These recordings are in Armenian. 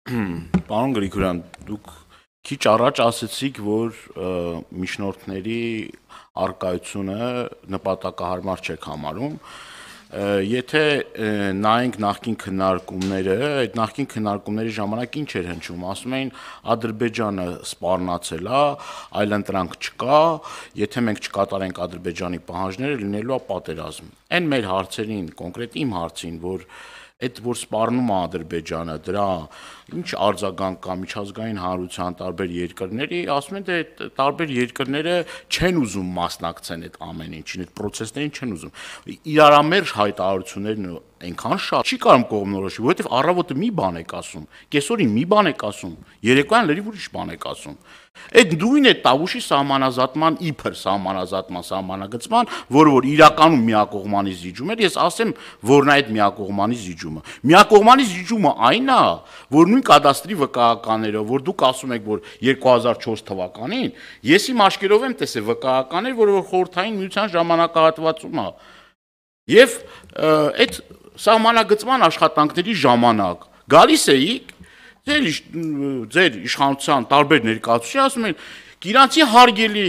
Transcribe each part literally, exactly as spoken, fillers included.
Պարոն Գրիգորյան, դուք քիչ առաջ ասացիք, որ միջնորդների առկայությունը նպատակահարմար չեք համարում։ Եթե նայենք նախկին քննարկումները, այդ նախկին քննարկումների ժամանակ ինչ էր հնչում, ասում էին Ադրբեջանը սպառնացել է, այլընտրանք չկա, եթե մենք չկատարենք Ադրբեջանի պահանջները, լինելու է պատերազմ։ Այն մեր հարցերին, կոնկրետ իմ հարցին, որ այդ որ սպառնում է Ադրբեջանը, դրա ինչ արձագանք կա միջազգային հանրության տարբեր երկրների, ասում են դե տարբեր երկրները չեն ուզում մասնակցեն այդ ամեն ինչին, այդ process-ներին չեն ուզում։ Իրարամերժ հայտարարություններն այնքան շատ չի կարող կողմնորոշի, որովհետև առավոտը մի բան եք ասում, կեսօրին մի բան եք ասում, երեկոյան լրիվ ուրիշ բան եք ասում։ Այդ նույն է Տավուշի սահմանազատման իբր սահմանազատման սահմանագծման, որը որ իրականում միակողմանի զիջում էր, ես ասեմ, որն է այդ միակողմանի զիջումը։ Միակողմանի զիջումը այն է, որ նույն կադաստրի վկայականներով, որ դուք ասում եք, որ երկու հազար չորս թվականին, ես իմ աչքերով եմ տեսել վկայականներ, որը որ խորհրդային միության ժամանակահատվածում է։ Եվ այդ սահմանագծման աշխատանքների ժամանակ գալիս էիք ձեր ձեր իշխանության տարբեր ներկայացուցիչներ ասում են իրանցի հարգելի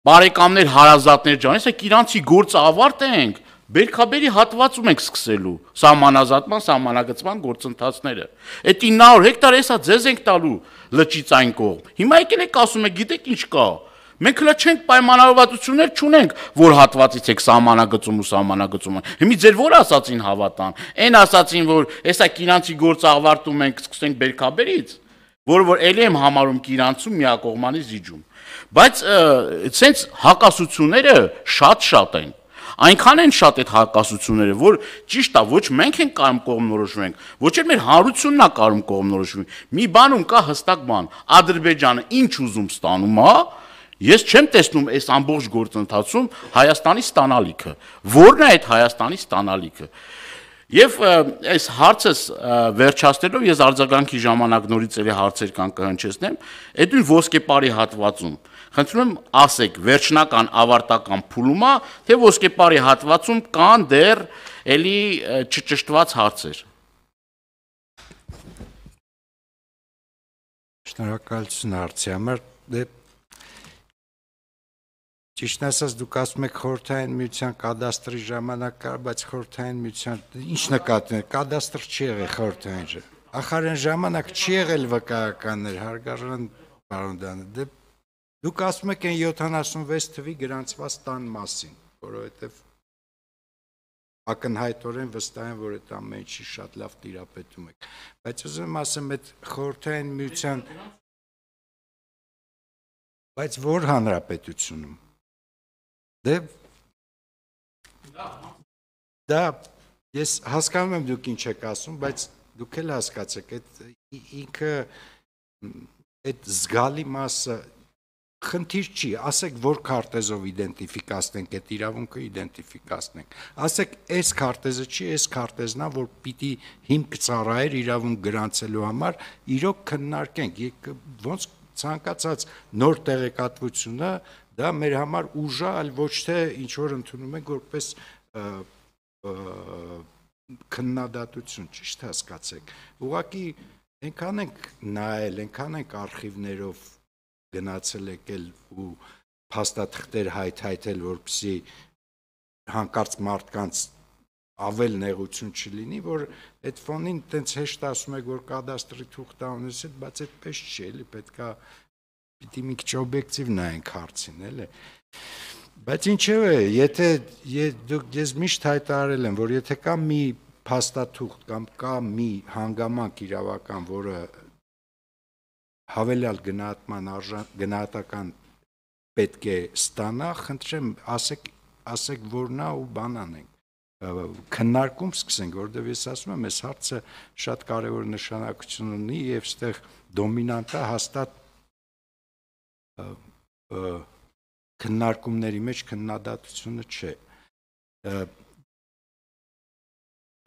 բարեկամներ հարազատներ ջան, հեսա իրանցի գործը ավարտենք, բերքաբերի հատվածում ենք սկսելու սահմանազատման սահմանագծման գործընթացները։ Այդ ինը հարյուր հեկտար հեսա ձեզ ենք տալու լճից այն կողմ։ Հիմա եկել եք ասում եք, գիտեք ինչ կա։ Մենք հլա չենք պայմանավորվածություններ չունենք, որ հատվածից եք սահմանագծում ու սահմանագծում։ Հիմի ձեր որ ասացին հավատան։ Այն ասացին, որ հեսա իրանցի գործը ավարտում ենք, սկսենք բերքաբերից, որը որ ելի եմ համարում իրանցում միակողմանի զիջում։ Բայց սենց հակասությունները շատ-շատ են։ Այնքան են շատ այդ հակասությունները, որ ճիշտ է, ոչ մենք ենք կարող կողմնորոշվենք, ոչ էլ մեր հանրությունն է կարող կողմնորոշվի։ Մի բանում կա հստակ բան, Ադրբեջանը ինչ ուզում ստանում է, ես չեմ տեսնում այս ամբողջ գործընթացում Հայաստանի ստանալիքը։ Որն է այդ Հայաստանի ստանալիքը։ Եվ այս հարցս վերջացնելով ես արձագանքի ժամանակ նորից էլի հարցեր կան կհնչեցնեմ, այդ նույն ոսկեպարի հատվածում խնդրում եմ ասեք վերջնական ավարտական փուլումա, թե ոսկեպարի հատվածում կան դեռ էլի չճշտված հարցեր։ Շնորհակալություն հարցի համար։ Ճիշտն ասած դուք ասում եք խորհրդային միության կադաստրի ժամանակ կար, բայց խորհրդային միության ինչ նկատի ունեք, կադաստր չի եղել խորհրդային։ Ախր այն ժամանակ չի եղել վկայականներ, հարգարժան պարոն Դանը։ Դե դուք ասում եք այն յոթանասունվեց թվի գրանցված տան մասին, որովհետև ակնհայտորեն վստահ եմ, որ այդ ամեն ինչի շատ լավ տիրապետում եք։ Բայց ուզում եմ ասեմ, այդ խորհրդային միության բայց որ հանրապետությունում Դե դա ես հասկանում եմ դուք ինչ եք ասում, բայց դուք էլ հասկացեք, այդ ինքը այդ զգալի մասը խնդիր չի, ասեք որ քարտեզով իդենտիֆիկացնենք, այդ իրավունքը իդենտիֆիկացնենք, ասեք այս քարտեզը չի, այս քարտեզն է, որ պիտի հիմք ծառայեր իրավունք գրանցելու համար, իրոք քննարկենք, ոնց ցանկացած նոր տեղեկատվությունը դա մեր համար ուժ է, այլ ոչ թե ինչ որ ընդունում ենք որպես քննադատություն, ճիշտ հասկացեք։ Ուղղակի այնքան ենք նայել, այնքան ենք արխիվներով գնացել եկել ու փաստաթղթեր հայթայթել, որպեսզի հանկարծ մարդկանց ավել նեղություն չլինի, որ այդ ֆոնին տենց հեշտ ասում եք, որ կադաստրի թուղթ ունես, բայց այդպես չի, էլի պետք է Պիտի մի քիչ օբյեկտիվ նայենք հարցին, էլի։ Բայց ինչևէ, եթե դուք ես միշտ հայտարարել եմ, որ եթե կա մի փաստաթուղթ կամ կա մի հանգամանք իրավական, որը հավելյալ գնահատման գնահատական պետք է ստանա, խնդրեմ, ասեք, ասեք որն է ու բան անենք։ Քննարկում սկսենք, որովհետև ես ասում եմ, այս հարցը շատ կարևոր նշանակություն ունի եւ այստեղ դոմինանտը հաստատ քննարկումների մեջ քննադատությունը չէ։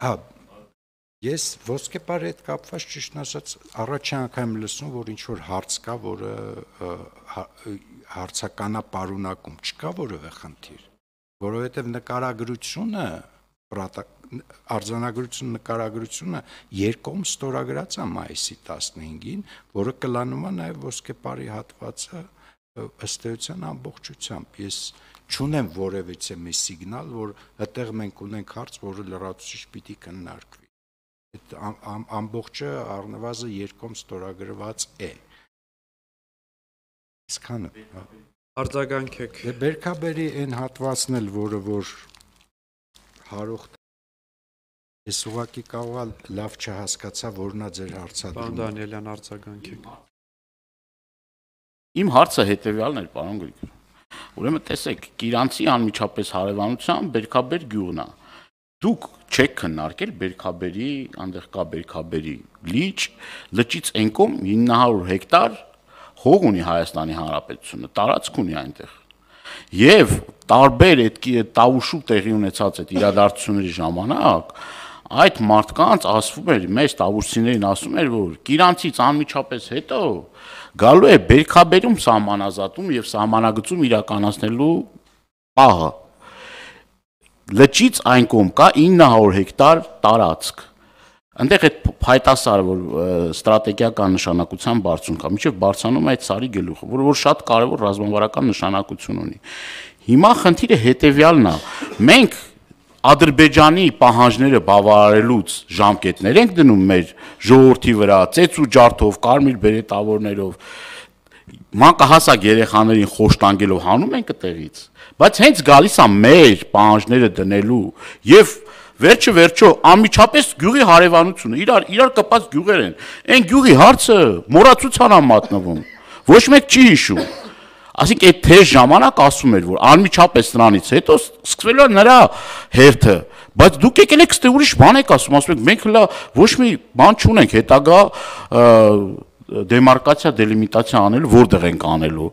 Հա, ես ոսկեպարի հետ կապված ճիշտ ասած առաջի անգամ լսում, որ ինչ որ հարց կա, որը հարցականապարունակում չկա որևէ խնդիր, որովհետև նկարագրությունը արձանագրություն նկարագրությունը երկում ստորագրած է մայիսի տասնհինգին, որը կլանում է նաև ոսկեպարի հատվածը ըստ էության ամբողջությամբ։ Ես չունեմ որևիցե մի սիգնալ, որ այդտեղ մենք ունենք հարց, որը լրացուցիչ պիտի քննարկվի։ Այդ ամբողջը առնվազն երկում ստորագրված է։ Իսկանը արձագանքեք։ Դե Բերքաբերի այն հատվածն էլ, որը որ հարուղտ ես ուղղակի կարող լավ չհասկացա, որն է ձեր հարցադրումը։ Պարոն Դանիելյան, արձագանքեք։ Իմ հարցը հետևյալն էր, պարոն Գրիգոր։ Ուրեմն տեսեք, Կիրանցի անմիջապես հարևանությամբ Բերքաբեր գյուղն է։ Դուք չեք քննարկել Բերքաբերի, այնտեղ կա Բերքաբերի լիճ, լճից այն կողմ ինը հարյուր հեկտար հող ունի Հայաստանի Հանրապետությունը, տարածք ունի այնտեղ։ Եվ տարբեր այդ տավուշու տեղի ունեցած այդ իրադարձությունների ժամանակ այդ մարդկանց ասվում էր, մեծ տավուշիներին ասում էր, որ Կիրանցից անմիջապես հետո գալու է Բերքաբերում սահմանազատում եւ սահմանագծում իրականացնելու պահը։ Լճից այն կողմ կա ինը հարյուր հեկտար տարածք։ Այնտեղ այդ փայտասարը, որ ստրատեգիական նշանակության բարձուն կա, միջև բարձանում է այդ սարի գլուխը, որը որ շատ կարևոր ռազմավարական նշանակություն ունի։ Հիմա խնդիրը հետևյալն է. մենք Ադրբեջանի պահանջները բավարարելուց ժամկետներ ենք դնում մեր ժողովրդի վրա, ծեծ ու ջարդով, կարմիր բերետավորներով, մանկահասակ երեխաներին խոշտանգելով հանում ենք այդտեղից, բայց հենց գալիս է մեր պահանջները դնելու եւ վերջը վերջո անմիջապես գյուղի հարևանությունը, իրար իրար կապած գյուղեր են։ Այն գյուղի հարցը մոռացության է մատնվում։ Ոչ մեկ չի հիշում։ Այսինքն այդ թեժ ժամանակ ասում էր, որ անմիջապես նրանից հետո սկսվելու է նրա հերթը, բայց դուք եկել եք ստե ուրիշ բան եք ասում, ասում եք մենք հլա ոչ մի բան չունենք հետագա դեմարկացիա, դելիմիտացիա անելու, որտեղ ենք անելու։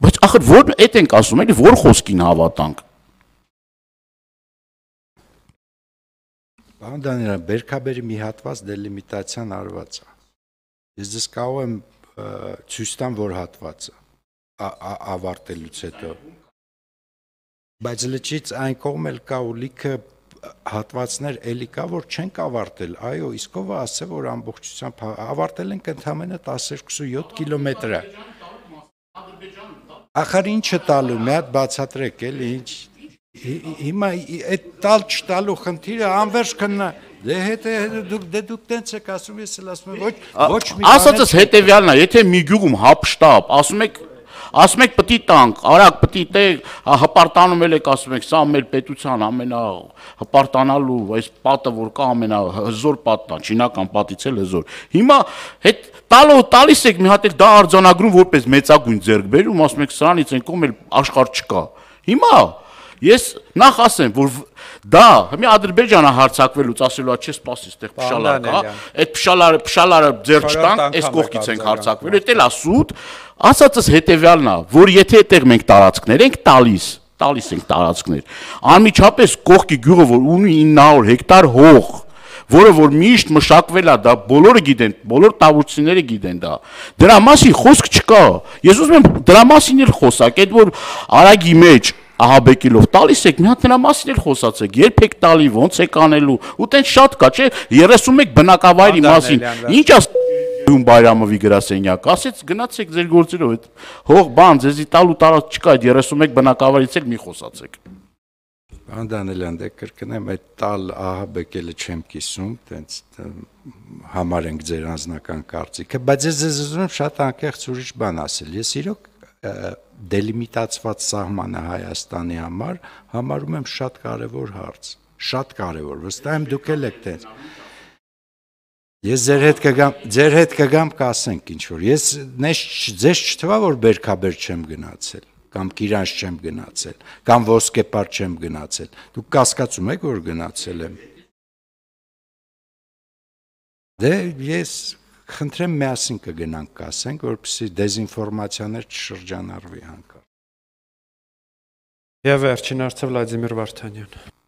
Բայց ախր որ այդ ենք ասում, էլի որ խոսքին հավատանք։ Պարոն Դանիելյան, Բերքաբերի մի հատված դելիմիտացիան արված է։ Ես դες կարող եմ ցույց տամ, որ հատվածը ավարտելուց հետո։ Բայց լճից այն կողմ էլ կա ու լիքը հատվածներ էլի կա, որ չենք ավարտել։ Այո, իսկ ով է ասել, որ ամբողջությամբ ավարտել ենք ընդամենը տասնյոթ կիլոմետրը։ Ախր ինչը տալու, մի հատ բացատրեք, էլի ինչ։ Հիմա այդ տալ չտալու խնդիրը անվերջ քննա։ Դե հետո դուք դե դուք տենց եք ասում, ես էլ ասում եմ, ոչ ոչ մի բան։ Ասածս հետևյալն է, եթե մի գյուղում հապշտապ, ասում եք ասում եք պտի տանք, արագ պտի տե, հպարտանում եք, ասում եք, սա մեր պետության ամենա հպարտանալու, այս պատը որ կա ամենա հզոր պատն է, չինական պատից էլ հզոր։ Հիմա հետ տալու տալիս եք մի հատ էլ դա արձանագրում որպես մեծագույն ձեռքբերում, ասում եք սրանից այն կողմ էլ աշխարհ չկա։ Հիմա ես նախ ասեմ, որ դա մի Ադրբեջանը հարձակվելուց ասելու է, չէ, սպասի, այդտեղ փշալար կա, այդ փշալարը փշալարը ձեռք չտանք, այս կողքից ենք հարձակվելու, դա էլ է սուտ, ասածս հետևյալն է, որ եթե այդտեղ մենք տարածքներ ենք տալիս, տալիս ենք տարածքներ, անմիջապես կողքի գյուղը, որ ունի ինը հարյուր հեկտար հող, որը որ միշտ մշակվել է, դա բոլորը գիտեն, բոլոր տավուշիները գիտեն դա։ Դրա մասին խոսք չկա։ Ես ուզում եմ դրա մասին էլ խոսակ, այդ որ արագի մեջ ահաբեկելով տալիս եք, մի հատ նրա մասին էլ խոսացեք, երբ եք տալի, ոնց եք անելու, ու տենց շատ կա, չէ, երեսուն մեկ բնակավայրի մասին, ինչ ասում Բայրամովի գրասենյակ, ասեց գնացեք ձեր գործերով, այդ հող բան, ձեզի տալու տարած չկա, այդ երեսուն մեկ բնակավայրից էլ մի խոսացեք։ Պարոն Դանիելյան, դե կրկնեմ, այդ տալ ահաբեկելը չեմ կիսում, տենց համար ենք ձեր անձնական կարծիքը, բայց ես ձեզ ուզում եմ շատ անկեղծ ուրիշ բան ասել, ես իրոք դելիմիտացված սահմանը Հայաստանի համար համարում եմ շատ կարևոր հարց, շատ կարևոր, վստահ եմ դուք էլ եք տենց։ Ես ձեր հետ կգամ, ձեր հետ կգամ կասենք ինչ որ։ Ես ձեզ չթվա որ Բերքաբեր չեմ գնացել, կամ Կիրանց չեմ գնացել, կամ Ոսկեպար չեմ գնացել։ Դուք կասկածում եք որ գնացել եմ։ Դե ես խնդրեմ միասին կգնանք կասենք, որպեսզի դեզինֆորմացիաներ չշրջանառվի հանկարծ։ Եվ վերջին հարցը Վլադիմիր Վարդանյան։